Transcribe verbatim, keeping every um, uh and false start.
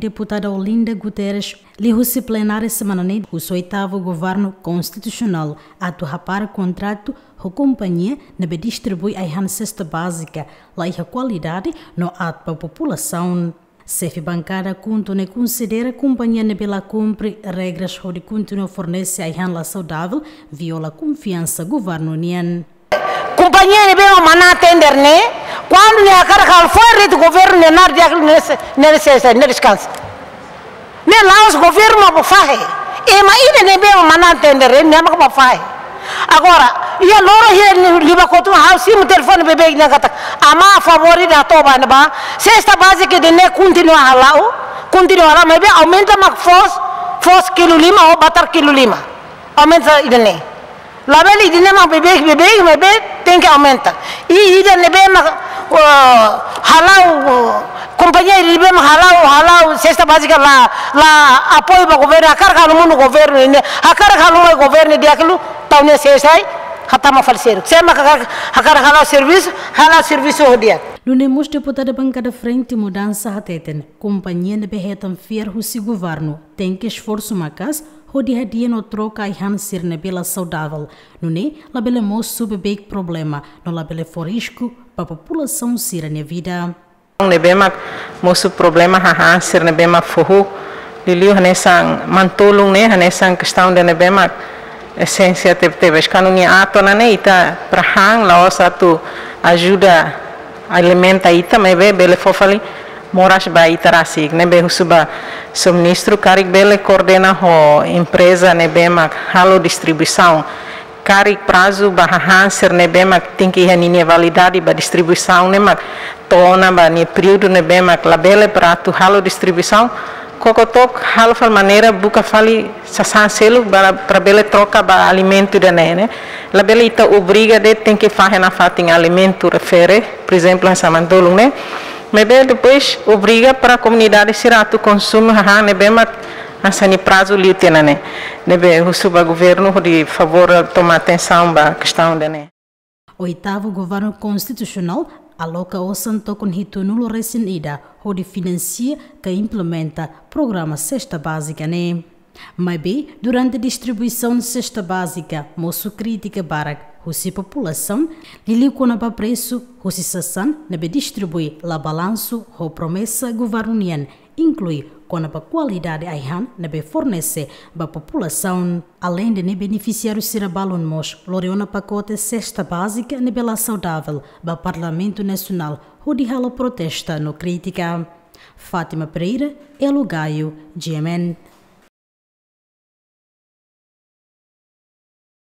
Deputada Olinda Guterres liuhusi plenária semana ne'e husu oitavu governu konstitusionál atu hapara kontratu ho kompañia ne'ebé distribui ai-han sesta bázika la iha kualidade no aat ba populasaun. Xefe bankada KHUNTO ne'e konsidera kompañia ne'ebé la kumpre regras hodi kontinua fornese ai-han la saudavel viola konfiansa governu nian. Kompañia ne'ebé mak manán tender ne'e, kuandu nia hakarak halo fo'er de'it governu nia naran di'ak liu, nia se-, nia se-, nia deskansa. Ne'e la'ós governu mak bá fahe. Ema ida ne'ebé mak manán tender ne'e, nia mak bá fahe. Agora, iha loron hirak liubá kotuk ha'u simu telefone beibeik nia katak: Amá, favór ida hato'o ba ne'ebá, sesta bázika ida-ne'e kontinua hala'o, kontinua hala'o, maibé aumenta mak foos, foos kilu lima ou batar kilu lima. Aumenta ida-ne'e. Labele ida-ne'e mak beibeik, beibeik, maibé tenke aumenta. I ida ne'ebé mak, eh, hala'o, eh, kompañia ida ne'ebé mak hala'o, hala'o sesta bázika la, la apoiu ba governu, hakarak halo monu governu ne'e, hakarak halo mai governu di'ak liu, tau nia sesta ai, hatama fali seluk. Sé mak hakarak, hakarak hala'o servisu, hala'o servisu ho di'ak. Nune'e mós deputada bankada Frente Mudansa hateten, kompañia ne'ebé hetan fiar husi governu tenke esforsu maka'as hodi hadi'a no troka ai-han sira ne'ebé la saudavel. Nune'e labele mosu beibeik problema, no labele fó risku ba populasaun sira-nia vida. Ne'ebé mak mosu problema hahán sira ne'ebé mak foho, liuliu hanesan manu-tolun ne'e, hanesan kestaun ida ne'ebé mak esénsia tebetebes. Kuandu nia aat ona ne'e, ita para han, la'ós atu ajuda alimenta ita, maibé bele fó fali moras ba ita rasik. Ne'ebé husu ba Señór Ministru karik bele koordena ho empreza ne'ebé mak halo distribuisaun. Karik prazu ba hahán sira ne'ebé mak tenke iha ninia validade ba distribuisaun ne'e mak to'o ona ba nia períodu ne'ebé mak labele para atu halo distribuisaun. Koko took halo fali maneira buka fali sasán seluk para, para bele troka ba alimentu ida-ne'e, ne'e. Labele ita obriga de'it tenke fahe nafatin alimentu refere, por ezemplu, hanesan manu-tolun ne'e. Maibé depois obriga para komunidade sira atu konsumu hahán ne'ebé mak hanesan nia prazu liu tiha ona ne'e. Ne'ebé husu ba governu hodi favór toma atensaun ba kestaun ida-ne'e. Oitavu governu konstitusionál aloka osan tokon hitunulu resin ida hodi finansia ka implementa programa sesta bázika ne'e. Maibé, durante distribuisaun sesta bázika, mosu krítika barak husi populasaun, liuliu kona-ba presu husi sasán ne'ebé distribui la balansu ho promesa governu nian, inklui kona-ba kualidade ai-han ne'ebé fornese ba populasaun. Aleinde ne'e, benefisiáriu sira balun mós lori ona pakote sesta bázika ne'ebé la saudavel ba Parlamentu Nasionál hodi halo protesta no krítika. Fátima Pereira, Elo Gaio, G M N.